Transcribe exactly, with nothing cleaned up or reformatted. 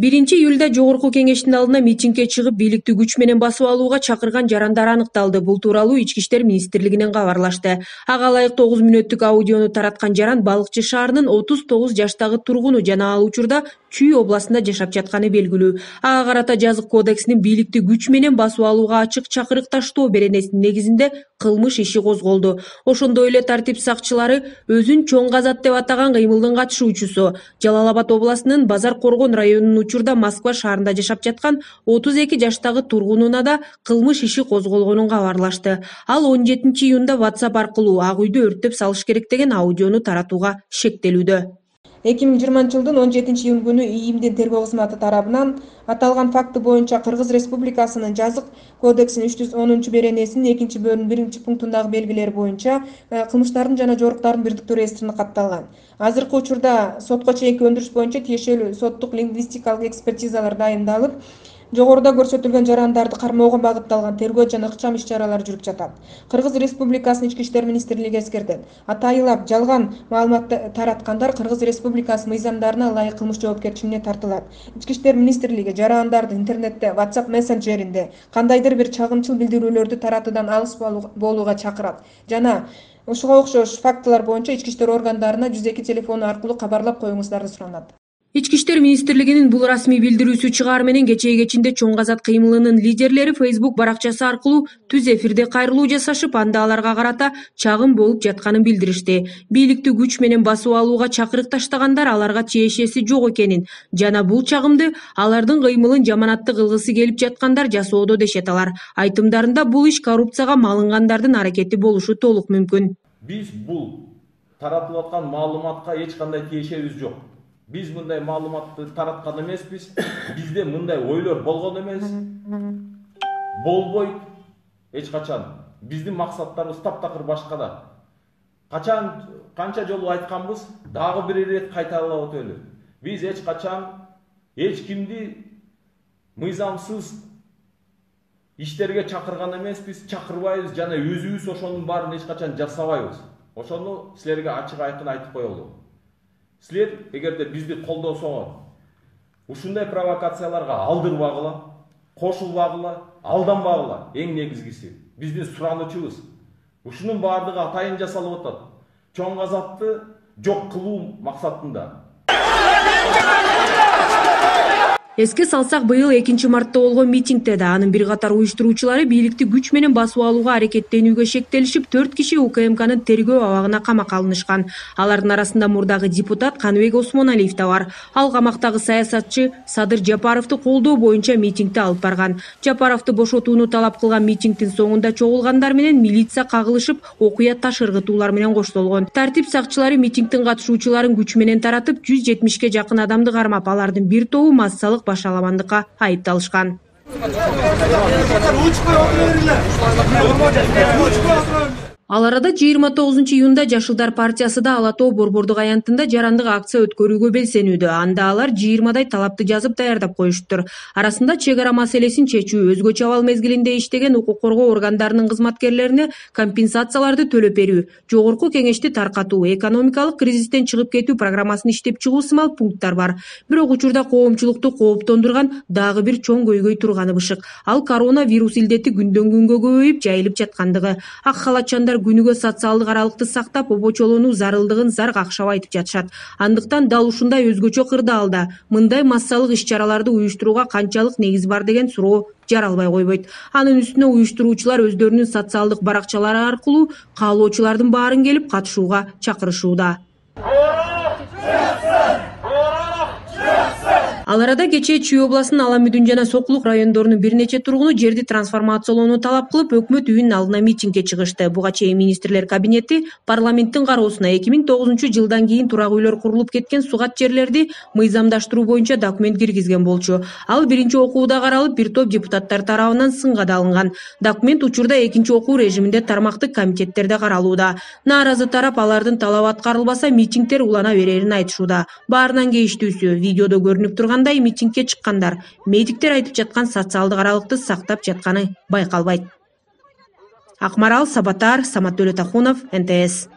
биринчи июлда жогорку кеңештин алдына митингге чыгып, бийликти күч менен басып алууга чакырган жарандар аныкталды. Бул тууралуу Ички иштер министрлигинен кабарлашты. Ага ылайык тогуз мүнөттүк аудиону тараткан жаран Балыкчы шаарынын отуз тогуз жаштагы тургуну жана ал учурда Чүй областында жашап жатканы белгилүү. Ага карата жазык кодексинин бийликти күч менен басып алууга ачык чакырык таштоо беренесинин негизинде кылмыш иши козголду. Ошондой эле тартип сакчылары өзүн чоң казат деп атаган кыймылдын катышуучусу Жалал Абад областынын Базар Коргон районунун учурда Москва шаарында жашап жаткан отуз эки жаштагы тургунуна да кылмыш иши козголгонун кабарлашты. Ал он жетинчи июнда WhatsApp аркылуу ак үйдү өрттөп салыш керек деген аудиону таратууга шектелүүдө. эки миң жыйырманчы жылдын он жетинчи июнь күнү ИИМдин тергөө кызматы тарабынан аталган факты боюнча Кыргыз Республикасынын жазык кодексинин үч жүз онунчу беренесинин экинчи бөлүмүнүн биринчи пунктундагы белгилери боюнча кылмыштардын жана жоруктардын бирдиктүү реестрине катталган. Азыркы учурда сотко чейинки өндүрүш боюнча тиешелүү соттук лингвистикалык экспертизалар дайындалып, жогоруда көрсөтүлгөн жарандарды кармоого багытталган тергөө жана ыкчам иш-чаралар жүрүп жатат. Кыргыз Республикасынын Ички иштер министрлиги эскертет. Атайылап жалган маалымат тараткандар Кыргыз Республикасы мыйзамдарына ылайык кылмыш жоопкерчилигине тартылат. Ички иштер министрлиги жарандарды интернетте, WhatsApp мессенджеринде кандайдыр бир чагымчыл билдирүүлөрдү таратуудан алыс болууга чакырат жана ушуга окшош фактылар боюнча ички иштер органдарына жүз эки телефону аркылуу кабарлап коюңуздарды суранат. Ички иштер министрлигинин бул расмий билдирүүсү чыгаар менен кечээ кечинде чоң казат кыймылынын лидерлери Facebook баракчасы аркылуу түз эфирде кайрылуу жасашып, анда аларга карата чагым болуп жатканын билдиришти. Бийликти күч менен басып алууга чакырык таштагандар аларга тиешеси жок экенин жана бул чагымды алардын кыймылын жаманатты кылгысы келип жаткандар жасоодо дешет алар. Айтымдарында бул иш коррупцияга малынгандардын аракети болушу толук мүмкүн. Биз бул таратылып аткан маалыматка эч кандай тиешебиз жок. Биз мындай маалыматты тараткан эмеспиз. Бизде мындай ойлор болгон эмес. Болбойт эч качан. Биздин максаттарыбыз таптакыр башкада. Качан канча жолу айтканбыз, дагы бир ирет кайталап өтөлү. Биз эч качан эч кимди мыйзамсыз иштерге чакырган эмеспиз, чакырбайбыз жана өзүбүз ошонун баарын эч качан жасабайбыз. Ошону силерге ачык айкын айтып коелу. Силер эгерде бизди колдосоңор, ушундай провокацияларга алдырбагыла, кошулбагыла, алданбагыла. Эң негизгиси биздин суранычыбыз. Ушунун баардыгы атайын жасалып атат. Чоң казатты жок кылуу максатында. Эске салсак, быйыл экинчи мартта болгон митингде да анын бир катар уюштуруучулары бийликти күч менен басып алууга аракеттенүүгө шектелишип, төрт киши УКМКнын тергөө абагына камакка алынышкан. Алардын арасында мурдагы депутат Каныбек Осмоналиев да бар. Ал камактагы саясатчы Садыр Жапаровду колдоо боюнча митингди алып барган. Жапаровду бошотууну талап кылган митингдин соңунда чогулгандар менен милиция кагылышып, окуя таш ыргытуулар менен коштолгон. Тартип сакчылары митингдин катышуучуларын күч менен таратып, жүз жетимишке жакын адамды кармап, алардын бир тобу массалык башаламандыкка айыпталышкан. Ал арада жыйырма тогузунчу июнда Жашылдар партиясы да Ала Тоо борбордук аянтында жарандык акция өткөрүүгө белсенүүдө. Анда алар жыйырмадай талапты жазып даярдап коюшуптур. Арасында чек ара маселесин чечүү, өзгөчө абал мезгилинде иштеген укук коргоо органдарынын кызматкерлерине компенсацияларды төлөп берүү, жогорку кеңешти таркатуу, экономикалык кризистен чыгып кетүү программасын иштеп чыгуу сымал пункттар бар. Бирок учурда коомчулукту кооптондурган дагы бир чоң көйгөй турганы бышык. Ал коронавирус илдети күндөн күнгө көбөйүп, жайылып жаткандыгы. Ак халатчандар күнүгө социалдык аралыкты сактап, обочолонуу зарылдыгын зар какшап айтып жатышат. Андыктан дал ушундай өзгөчө кырдаалда мындай массалык иш-чараларды уюштурууга канчалык негиз бар деген суроо жаралбай койбойт. Анын үстүнө уюштуруучулар өздөрүнүн социалдык баракчалары аркылуу каалоочулардын баарын келип катышууга чакырышууда. Ал арада кечээ Чүй областынын Ала Мүдүн жана Сокулук райондорунун бир нече тургуну жерди трансформациялоону талап кылып, өкмөт үйүнүн алдына митингге чыгышты. Буга чейин министрлер кабинети парламенттин кароосуна эки миң тогузунчу жылдан кийин турак үйлөр курулуп кеткен сугат жерлерди мыйзамдаштыруу боюнча документ киргизген болчу. Ал биринчи окууда каралып, бир топ депутаттар тарабынан сынга да алынган. Документ учурда экинчи окуу режиминде тармактык комитеттерде каралууда. Нааразы тарап алардын талабы аткарылбаса, митингдер улана берерин айтышууда. Баарынан кейиштүүсү видеодо көрүнүп турган митингге чыккандар медиктер айтып жаткан социалдык аралыкты сактап жатканы байкалбайт. Акмарал Сабатар, Самат Төлөтахунов, эн тэ эс.